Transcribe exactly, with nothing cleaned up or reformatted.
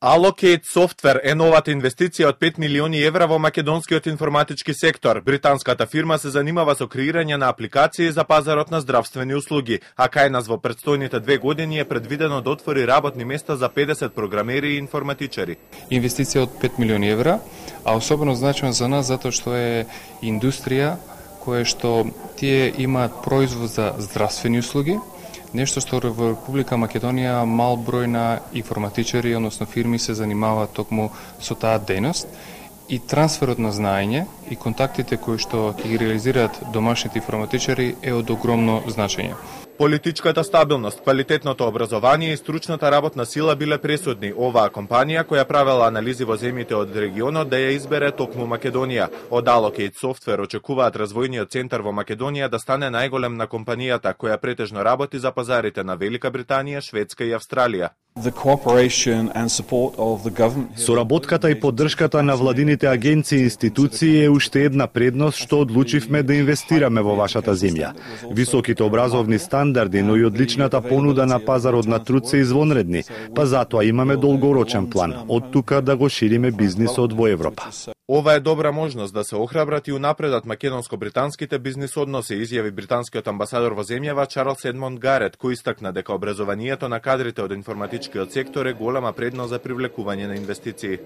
Allocate Software е новата инвестиција од пет милиони евра во македонскиот информатички сектор. Британската фирма се занимава со креирање на апликации за пазарот на здравствени услуги, а кај нас во претстојните две години е предвидено да отвори работни места за педесет програмери и информатичари. Инвестиција од пет милиони евра, а особено значено за нас затоа што е индустрија која што тие имаат производ за здравствени услуги, нешто што во Република Македонија мал број на информатичари, односно фирми се занимаваат токму со таа дејност, и трансферот на знаење и контактите кои што ќе ги реализираат домашните информатичари е од огромно значење. Политичката стабилност, квалитетното образование и стручната работна сила биле пресудни. Оваа компанија која правела анализи во земјите од регионот да ја избере токму Македонија. Од Allocate Software очекуваат развојниот центар во Македонија да стане најголем на компанијата, која претежно работи за пазарите на Велика Британија, Шведска и Австралија. Соработката и поддршката на владините агенции и институции е уште една предност што одлучивме да инвестираме во вашата земја. Високите образовни стандарди, но и одличната понуда на пазарот на труд се извонредни, па затоа имаме долгорочен план, од тука да го шириме бизнисот во Европа. Ова е добра можност да се охрабрат и унапредат македонско-британските бизнис односи, изјави британскиот амбасадор во земјава Чарлс Едмонд Гарет, кој истакна дека образованието на кадрите од информатичкиот сектор е голема предност за привлекување на инвестиции.